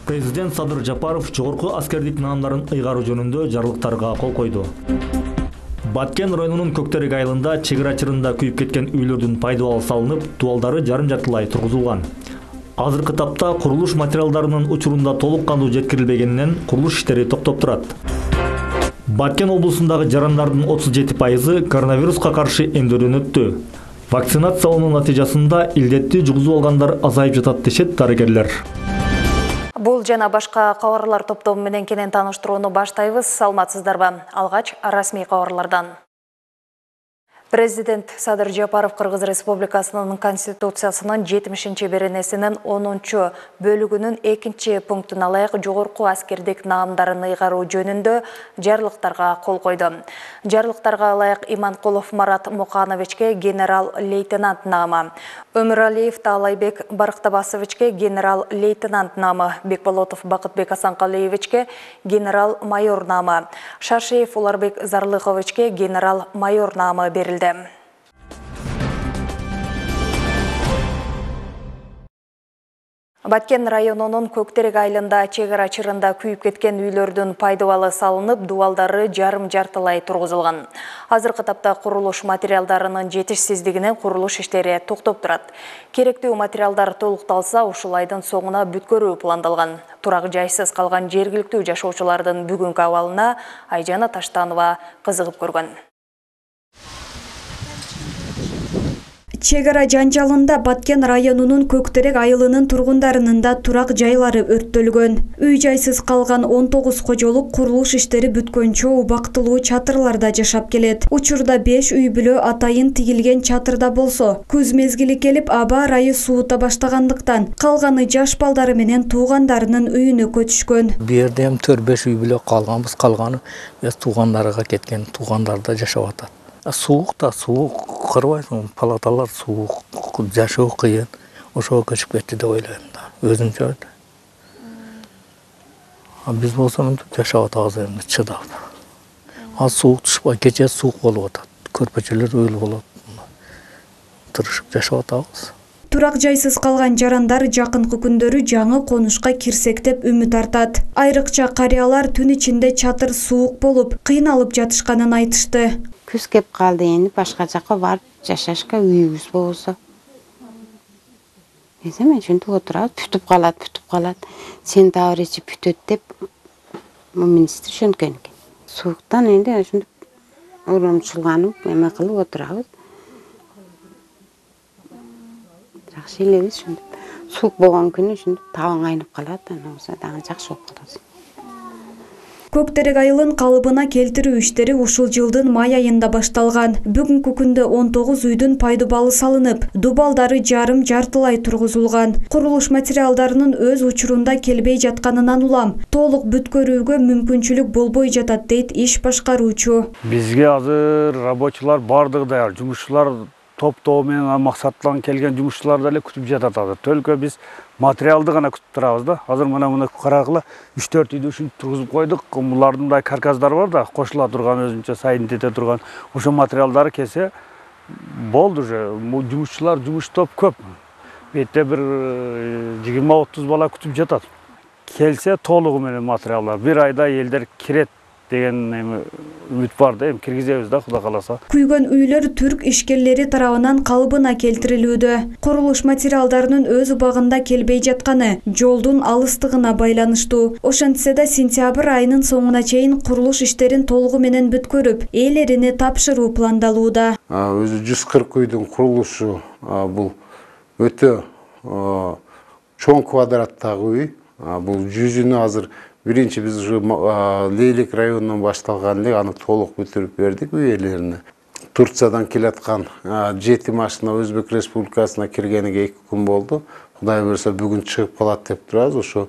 Президент Садыр Жапаров жогорку аскердик наамдарын ыйгаруу жөнүндө жарлыктарга кол койду. Баткен районунун Көктерек айылында чек ара чырында күйүп кеткен үйлөрдүн пайдалуу салынып, дубалдары жарым-жартылай тургузулган. Азыркы тапта курулуш материалдарынын учурунда толук кандуу жеткирилбегенинен курулуш иштери токтоп турат. Баткен облусундагы жарандардын 37% коронавируска каршы эмдөөдөн өттү. Вакцинациялануу натыйжасында илдетти жугузуп алгандар азайып жатат дешет дарыгерлер. Бул жана башка кабарлар топтому менен кенен тааныштырууну баштайбыз. Саламатсыздарбы? Алгач расмий кабарлардан. Президент Садыр Жапаров Кыргыз Республикасынын Конституциясынын 70-беренесинин 10-бөлүгүнүн 2-пунктун алайык жогорку аскердик наамдарын ыйгаруу жөнүндө жарлыктарга кол койду. Жарлыктарга алайык Иманкулов Марат Мукановичке генерал-лейтенант наамы, Өмүралиев Таалайбек Барктабасовичке генерал-лейтенант наамы, Бекболотов Бакытбек Асанкалиевичке генерал-майор наамы, Шашиев Уларбек Зарлыховичке генерал-майор наамы берилди. Баткен районунун Көктерек айылында чек ара чырында күйүп кеткен үйлөрдүн пайдалуу салынып, дубалдары жарым-жартылай тургузулган. Азыркы тапта курулуш материалдарынын жетишсиздигинен курулуш иштери токтоп турат. Керектүү материалдар толукталса, ушул айдын соңуна бүткөрүү пландалган. Турак жайсыз калган жергиликтүү жашоочулардын бүгүнкү абалына Айжана Таштанова кызыгып көргөн. Чек ара жанжалында Баткен районунун Көктерек айылынын тургундарынын да турак жайлары өрттөлгөн. Үй жайсыз калган 19 кожолук курулуш иштери бүткөнчө убактылуу чатырларда жашап келет. Учурда 5 үй бүлө атайын тигилген чатырда болсо, күз мезгили келип аба ырайы суута баштагандыктан калганы жаш балдары менен туугандарынын үйүнө көчүшкөн. Бу жерде 4-5 үй бүлө калганбыз, калганы туугандарга кеткен, туугандарда жашап атат. Суук да суук, кырбайсың, палаталар суук, жашоо кыйын. Ошого көчүп кетти деп ойлойм да. Өзүнчө. Биз болсо жашап атабыз эми чыдап. Суук түшпөй, кече суук болуп атат. Көрпөчөлөр өйүл болот. Тырышып жашап атабыз. Турак жайсыз калган жарандар жакынкы күндөрү жаңы конушка кирсек деп үмүт артат. Айрыкча карыялар түн ичинде чатыр суук болуп, кыйналып жатышканын айтышты. Күз кеп калды, эми башка жакка барып жашашка үйүбүз болсо. Мен ушинтип отурабыз, бүтүп калат. Сентябрь ичи бүтөт деп министр ошенткен экен. Сууктан энди ушинтип урамчылганып, эме кылып отурабыз. Жакшы элебиз ушинтип. Суук болгон күнү ушинтип табаң айнып калат, анан болсо дагы жакшы болуп калат. Көктерек айылын калыбына келтирүү иштери ушул жылдын май айында башталган. Бүгүнкү күндө 19 үйдүн пайдубалы салынып, дубалдары жарым-жартылай тургузулган. Курулуш материалдарынын өз учурунда келбей жатканынан улам толук бүткөрүүгө мүмкүнчүлүк болбой жатат дейт иш башкаруучу. Бизге азыр рабочулар бардыгы даяр, жумушчулар топтоо менен максаттан келген жумушчулар деле күтүп жатат азыр. Төлкө биз материалды гана күтүп турабыз да. Азыр мына карагыла 3-4 үйдү ушинтип тургузуп койдук. Булардын мындай карказдар бар да, кошула турган өзүнчө сайын тете турган. Ошо материалдары келсе болду уже. Жумушчулар жумуштоп көп. Бетте бир 20-30 бала күтүп жатат. Келсе толугу менен материалдар. Bir айда элдер кирет деген үмүт бар да, эми киргизебиз да, Кудай кааласа. Күйгөн үйлөр түрк ишкерлери тарабынан калыбына келтирилүүдө. Курулуш материалдарынын өз убагында келбей жатканы жолдун алыстыгына байланыштуу. Ошентсе да сентябрь айынын соңуна чейин курулуш иштерин толугу менен бүткөрүп, ээлерине тапшыруу пландалууда. Өзү 140 үйдүн курулушу бул өтө чоң квадраттагы үй. Бул 100-үнү азыр биринчи биз ушу Лейлек районунан башталган эле, аны толук бүтүрүп бердик үй ээлерине. Турциядан келаткан 7 машина Өзбек Республикасына киргениге 2 күн болду. Кудай буйрса бүгүн чыгып калат деп турабыз. Ошо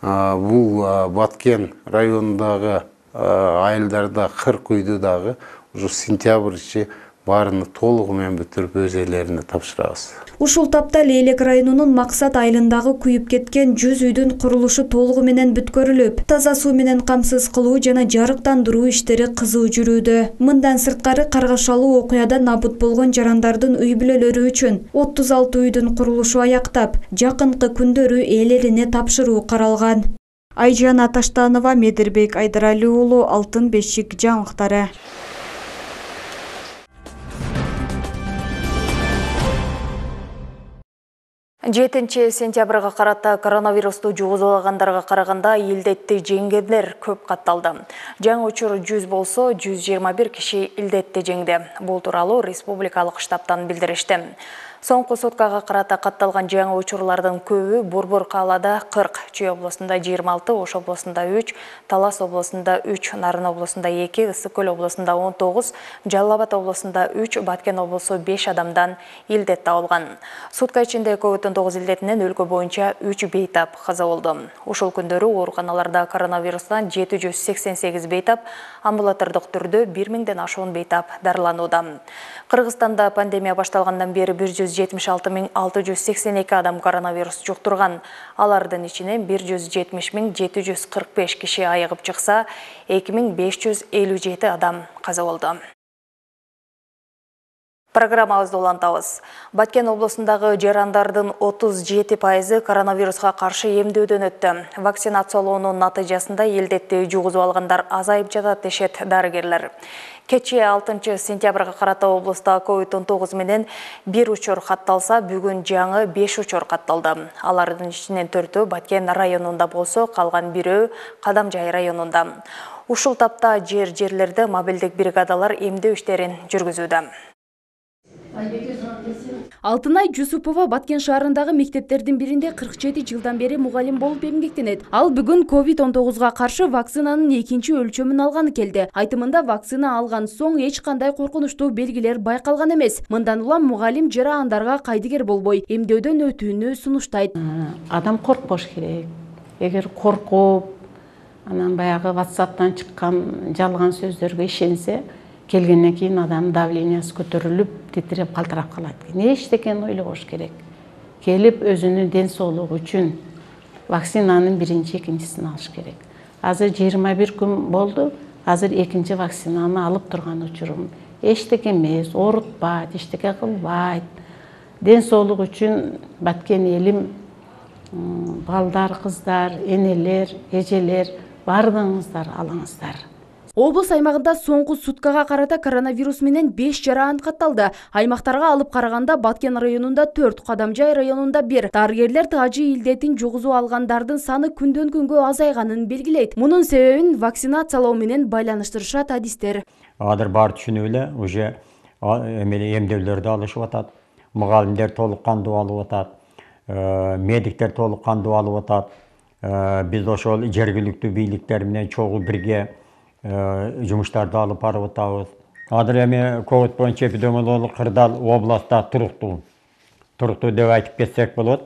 бул Баткен районундагы айылдарда 40 үйдү дагы ушу сентябрь ичи баарыны толугу менен бүтүрүп өз ээлерине тапшырабыз. Ушул тапта Лейлек районунун Максат айылындагы күйүп кеткен 100 үйдүн курулушу толугу менен бүткөрүлүп, таза суу менен камсыз кылуу жана жарыктандыруу иштери кызуу жүрүүдө. Мындан сырткары каргашалуу окуяда набут болгон жарандардын үй бүлөлөрү үчүн 36 үйдүн курулушу аяктап, жакынкы күндөрү ээлерине тапшыруу каралган. Айжана Таштанова, Медирбек Айдарали уулу, Алтын бешик жаңылыктары. 7 сентябрга карата коронавирусту жугузулагандарга караганда илдетти жеңгендер көп катталды. Жаңы учур 100 болсо, 121 киши илдетти жеңди. Бул тууралуу республикалык штабтан билдиришти. Соңку суткага карата катталган жаңы учурлардын көбү Борбор каалада 40, Чүй облусунда 26, Ош облусунда 3, Талас облусунда 3, Нарын облусунда 2, Ысык көл облусунда 19, Жалал Абад облусунда 3, Баткен облусу 5 адамдан илдет табылган. Сутка ичинде COVID-19 илдетинен өлкө боюнча 3 бейтап каза болду. Ушул күндөрү ооруканаларда коронавирустан 788 бейтап, амбулатордук түрдө 1000ден ашуун бейтап дарыланууда. Кыргызстанда пандемия башталгандан бери 176.682 адам коронавирус жуктурган. Алардын ичинен 170.745 киши айыгып чыкса, 2557 адам каза болду. Программабызды улантабыз. Баткен облусундагы жарандардын 37% коронавируска каршы эмдөөдөн өттү. Вакцинациялоонун натыйжасында илдетти жугузуп алгандар азайып жатат дешет дарыгерлер. Кечээ 6 сентябрга карата облуста COVID-19 менен 1 учур катталса, бүгүн жаңы 5 учур катталды. Алардын ичинен 4-өө Баткен районунда болсо, калган 1-өө Кадамжай районунда. Ушул тапта жерлерде мобилдик бригадалар эмдөө иштерин жүргүзүүдө. Алтынай Жусупова Баткен шаарындагы мектептердин биринде 47 жылдан бери мугалим болуп эмгектенет. Ал бүгүн COVID-19га каршы вакцинанын экинчи өлчөмүн алганы келди. Айтымында вакцина алган соң эч кандай коркунучтуу белгилер байкалган эмес. Мындан улам мугалим жараандарга кайдыгер болбой, эмдөөдөн өтүүнү сунуштайт. Адам коркпош керек. Эгер коркуп, анан баягы WhatsApp'тан чыккан жалган сөздөргө ишенсе, келгенден кийин адам давлениясы көтөрүлүп, титиреп калтырап калат. Эчтекени ойлобош керек. Келип өзүнүн ден соолугу үчүн вакцинанын биринчи, экинчисин алыш керек. Азыр 21 күн болду. Азыр экинчи вакцинаны алып турган учурум. Эчтеке эмес, оорутпайт, эчтеке кылбайт. Ден соолук үчүн Баткен элим, балдар, кыздар, энелер, эжелер, бардыгыңыздар алыңыздар. Облус аймагында соңку суткага карата коронавирус менен 5 жараан катталды. Аймактарга алып караганда Баткен районунда 4, Кадамжай районунда 1. Дарыгерлер тажы илдетин жугузуп алгандардын саны күндөн күнгө азайганын белгилейт. Мунун себебин вакцинациялоо менен байланыштырышат адистер. Азыр баары түшүнүп эле, уже эмдөөлөрдү алышып атат. Мугалимдер толук кандуу алып атат. Медиктер толук кандуу алып атат. Биз ошол жергиликтүү бийликтер менен чогуу бирге жумуштарды алып барып атабыз. Азыр эми ковид боюнча эпидемиологиялык кырдаал областта туруктуу деп айтып кетсек болот.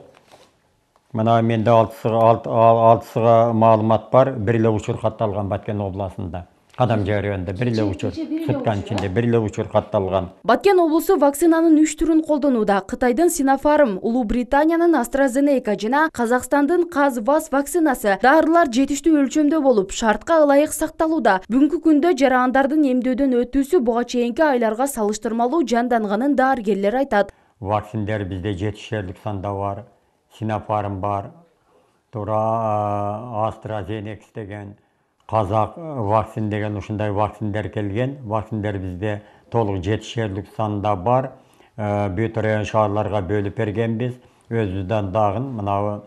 Мына менде 6 маалымат бар. Бир эле учур катталган Баткен областында. Кадамжай районунда бир эле учур, сутканын ичинде бир эле учур катталган. Баткен облусу вакцинанын 3 түрүн колдонууда. Кытайдын Sinopharm, Улуу Британиянын AstraZeneca жана Казакстандын Казвас вакцинасы дарылар жетиштүү өлчөмдө болуп, шартка ылайык сакталууда. Бүгүнкү күндө жараандардын эмдөөдөн өтүүсү буга чейинки айларга салыштырмалуу жанданганын дарыгерлер айтат. Вакциндер бизде жетишерлик санда бар. Sinopharm бар. Тура AstraZeneca деген Казак вакцин деген ушундай вакциндер келген. Вакциндер бизде толук жетишерлик санда бар. Бүт район шаарларга бөлүп бергенбиз. Өзүбүздөн дагы мына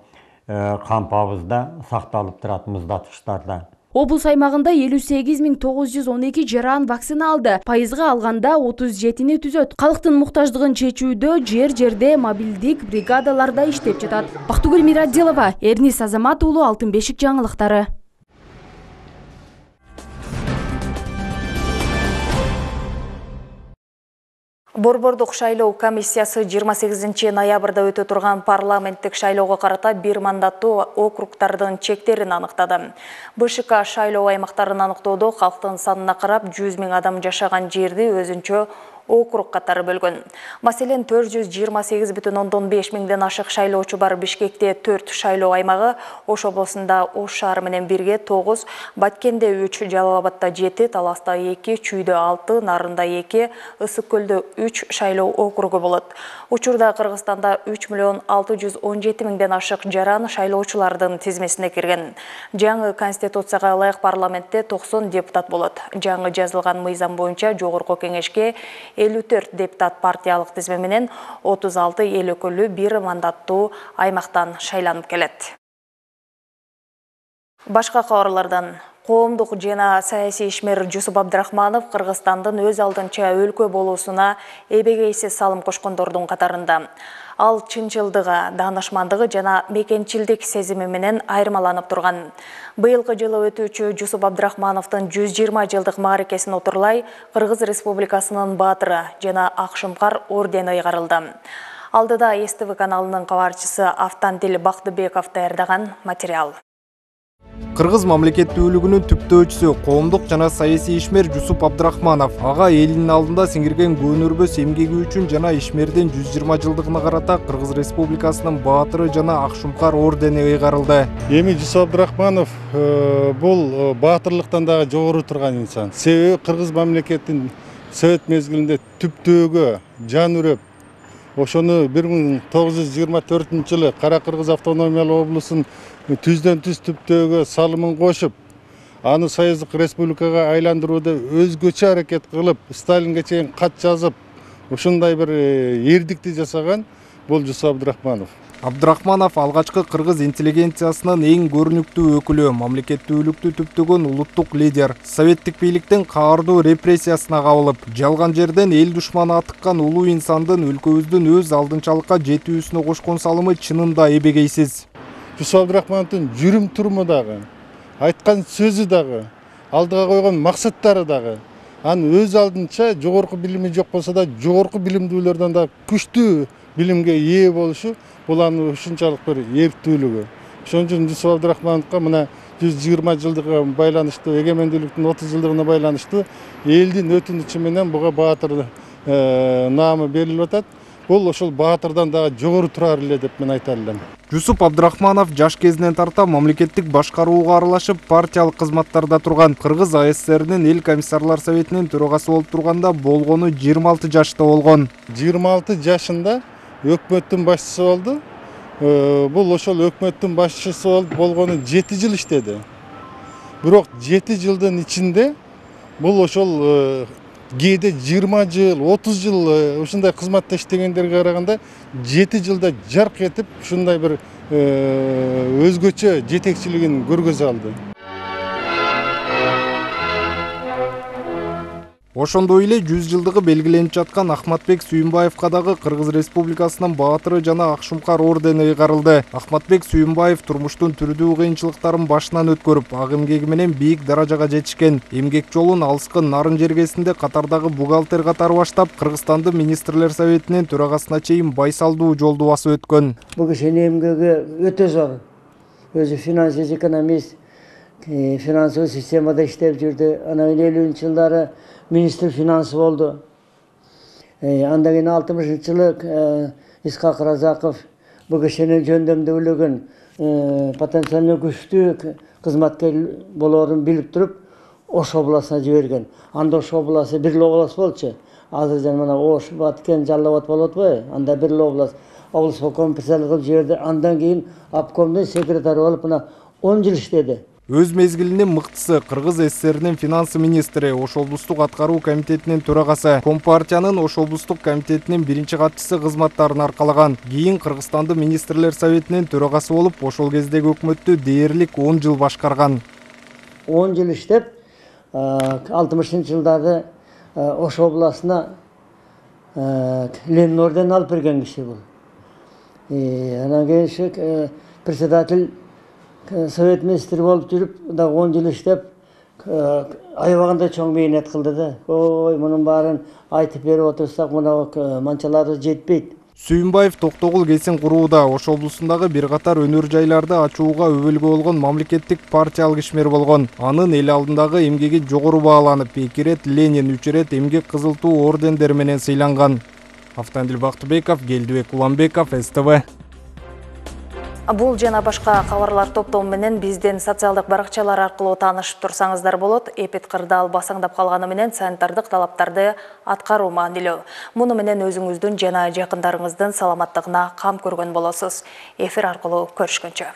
кампабызда сакталып турат муздаткычтарда. Облус аймагында 58.912 жараан вакцина алды. Пайызга алганда 37-ни түзөт. Калктын муктаждыгын чечүүдө жерде мобилдик бригадаларда иштеп жатат. Бактыгүл Мирадилова, Эрнис Азамат уулу, Алтын бешик жаңылыктары. Борбордук шайлоо комиссиясы 28 ноябрда өтө турган парламенттик шайлоого карата бир мандаттуу округдардын чектерин аныктады. БШК шайлоо аймактарын аныктоодо калктын санына карап 100 000 адам жашаган жерди өзүнчө округ катары бөлгөн. Маселен, 428,5 миңден ашык шайлоочу бар Бишкекте 4 шайлоо аймагы, Ош облусунда Ош шаары менен бирге 9, Баткенде 3, Жалал Абадта 7, Таласта 2, Чүйдө 6, Нарында 2, Ысык Көлдө 3 шайлоо округу болот. Учурда Кыргызстанда 3,617 миңден ашык жаран шайлоочулардын тизмесине кирген. Жаңы конституцияга ылайык парламентте 90 депутат болот. Жаңы жазылган мыйзам боюнча жогорку кеңешке 54 депутат партиялык тизме менен 36 эл өкүлү 1 мандаттуу аймактан шайланып келет. Башка кабарлардан коомдук жана саясий ишмер Жусуп Абдрахманов Кыргызстандын өз алдынча өлкө болуусуна эбегейсиз салым кошкондордун катарында. Ал чынчылдыгы, даанышмандыгы жана мекенчилдик сезими менен айырмаланып турган. Быйылкы жылы өтүүчү Жусуп Абдрахмановдун 120 жылдык мааракесин отурлай Кыргыз Республикасынын баатыры жана Акшумкар ордени ыйгарылды. Алдыда СТВ каналынын кабарчысы Автандил Бактыбеков даярдаган материал. Кыргыз мамлекеттүүлүгүнүн түптөөчүсү, коомдук жана саясий ишмер Жусуп Абдрахманов ага элинин алдында сиңирген көөнөрбөс эмгеги үчүн жана ишмердин 120 жылдыгына карата Кыргыз Республикасынын баатыры жана Акшумкар ордени ыйгарылды. Эми Жусуп Абдрахманов бул баатырлыктан дагы жогору турган инсан. Себеби Кыргыз мамлекетинин Совет мезгилинде түптөөгө жан үрөп, ошону 1924 жылы Кара Кыргыз автономиялык облусунун түздөн түз түптөөгө салымын кошуп, аны Союздук республикага айландырууда өзгөчө аракет кылып, Сталинге чейин кат жазып, ушундай бир эрдикти жасаган бул Жусуп Абдрахманов. Абдрахманов алгачкы кыргыз интеллигенциясынын эң көрүнүктүү өкүлү, мамлекеттүүлүктү түптөгөн улуттук лидер. Советтик бийликтин каардуу репрессиясына кабылып, жалган жерден эл душманы атыккан улуу инсандын өлкөбүздүн өз алдынчалыкка жетүүсүнө кошкон салымы чынында эбегейсиз. Жусуп Абдрахмановдун жүрүм туруму дагы, айткан сөзү дагы, алдыга койгон максаттары дагы, анын өз алдынча жогорку билими жок болсо да, жогорку билимдүүлөрдөн да күчтүү билимге ээ болушу, бул анын ушунчалык бир эрктүүлүгү. Ошон үчүн Жусуп Абдрахмановго мына 120 жылдыгына байланыштуу, эгемендүүлүктүн 30 жылдыгына байланыштуу элдин өтүнүчү менен буга баатыр наамы берилип атат. Бул ошол баатырдан дагы жогору турар эле деп мен айта алам. Жусуп Абдрахманов жаш кезинен тарта мамлекеттик башкарууга аралашып, партиялык кызматтарда турган. Кыргыз АССРнин эл комиссарлар советинин төрагасы болуп турганда болгону 26 жашта болгон. 26 жашында өкмөттүн башчысы болду. Бул ошол өкмөттүн башчысы болгону 7 жыл иштеди. Бирок 7 жылдын ичинде бул ошол кээде 20 жыл, 30 жыл ушундай кызматта иштегендерге караганда 7 жылда жарк этип ушундай бир өзгөчө жетекчилигин көргөзө алды. Ошондой эле 100 жылдыгы белгиленип жаткан Ахматбек Сүйүнбаевка дагы Кыргыз Республикасынын баатыры жана Акшумкар ордени ыйгарылды. Ахматбек Сүйүнбаев турмуштун түрдүү кыйынчылыктарын башынан өткөрүп, ак эмгеги менен бийик даражага жетишкен. Эмгек жолун алыскы Нарын жергесинде катардагы бухгалтер катары баштап, Кыргызстандын министрлер советинин төрагасына чейин байсалдуу жолду басып өткөн. Бул кишинин эмгеги өтө зор. Өзү финансист, экономист, финансылык системада иштеп жүрдү. Анан 50-жылдары министр финансы болду. Андан кийин 60-жылы Исхак Разаков бул кишинин жөндөмдүүлүгүн, потенциально күчтүү кызматкер болоорун билип туруп, Ош областына жиберген. Анда Ош областы бир област болчу. Азыр жана мына Ош, Баткен, Жалал Абад болот атпайбы? Анда бир област. Облсполком председатель кылып жиберди. Андан кийин обкомдун секретары болуп мына 10 жыл иштеди. Өз мезгилинин мыктысы Кыргыз ССРнин финансы министри, Ош облустук аткаруу комитетинин төрагасы, Компартиянын Ош облустук комитетинин биринчи катчысы кызматтарын аркалаган. Кийин Кыргызстандын министрлер советинин төрагасы болуп, ошол кездеги өкмөттү дээрлик 10 жыл башкарган. 10 жыл иштеп, 60-жылдары Ош областына Ленин орденин алып берген киши бул. Анан кийин председатель Совет министри болуп жүрүп, да 10 жыл иштеп, аябаганда чоң мээнет кылды да. Ой, мунун баарын айтып берип отурсак, мына манчалары жетпейт. Сүйүнбаев Токтогул кесин курууда Ош облусундагы бир катар өнөр жайларды ачууга өбөлгө болгон мамлекеттик партиялык ишмер болгон. Анын эл алдындагы эмгеги жогору бааланып, 2 ирет Ленин, 3 ирет эмгек кызыл туу ордендери менен сыйланган. Автандил Бактыбеков, Келдибек Уланбеков, СТВ. Бул жана башка кабарлар топтому менен биздин социалдык баракчалар аркылуу таанышып турсаңыздар болот. Эпид кырдаал басаңдап калганы менен санитардык талаптарды аткаруу маанилүү. Муну менен өзүңүздүн жана жакындарыңыздын саламаттыгына кам көргөн болосуз. Эфир аркылуу көрүшкөнчө.